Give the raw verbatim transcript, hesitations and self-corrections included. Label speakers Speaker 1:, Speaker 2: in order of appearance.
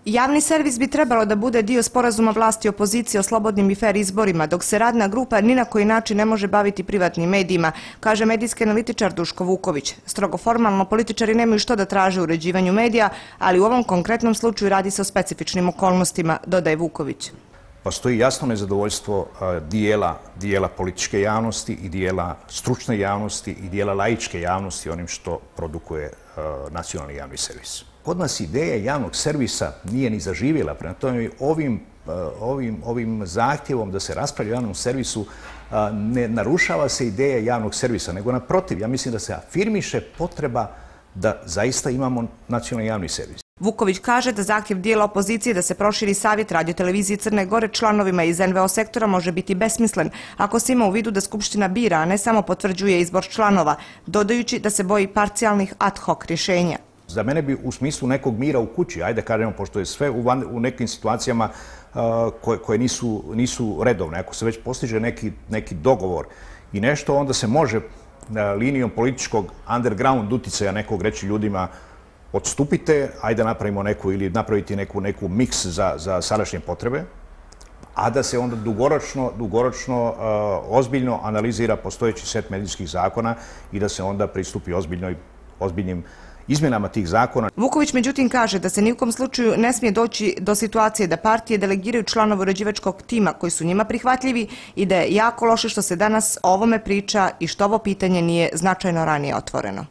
Speaker 1: Javni servis bi trebalo da bude dio sporazuma vlasti i opozicije o slobodnim i fer izborima, dok se radna grupa ni na koji način ne može baviti privatnim medijima, kaže medijski analitičar Duško Vuković. Strogo formalno, političari nemaju što da traže u uređivanju medija, ali u ovom konkretnom slučaju radi se o specifičnim okolnostima, dodaje Vuković.
Speaker 2: Postoji jasno nezadovoljstvo dijela, dijela političke javnosti i dijela stručne javnosti i dijela laičke javnosti onim što produkuje nacionalni javni servis. Kod nas ideja javnog servisa nije ni zaživjela, prema tome ovim, ovim, ovim zahtjevom da se raspravlja o javnom servisu ne narušava se ideja javnog servisa, nego naprotiv, ja mislim da se afirmiše potreba da zaista imamo nacionalni javni servis.
Speaker 1: Vuković kaže da zahtjev dijela opozicije da se proširi savjet radiotelevizije Crne Gore članovima iz en ve o sektora može biti besmislen ako se ima u vidu da Skupština bira, a ne samo potvrđuje izbor članova, dodajući da se boji parcijalnih ad hoc rješenja.
Speaker 2: Za mene bi u smislu nekog mira u kući, ajde kažemo, pošto je sve u, van, u nekim situacijama uh, koje, koje nisu, nisu redovne, ako se već postiže neki, neki dogovor i nešto, onda se može uh, linijom političkog underground uticaja nekog reći ljudima odstupite, ajde napravimo neku ili napraviti neku, neku miks za, za sadašnje potrebe, a da se onda dugoročno, dugoročno uh, ozbiljno analizira postojeći set medijskih zakona i da se onda pristupi ozbiljnoj, ozbiljnim izmjenama tih zakona.
Speaker 1: Vuković međutim kaže da se ni u kom slučaju ne smije doći do situacije da partije delegiraju članove uređivačkog tima koji su njima prihvatljivi i da je jako loše što se danas o ovome priča i što ovo pitanje nije značajno ranije otvoreno.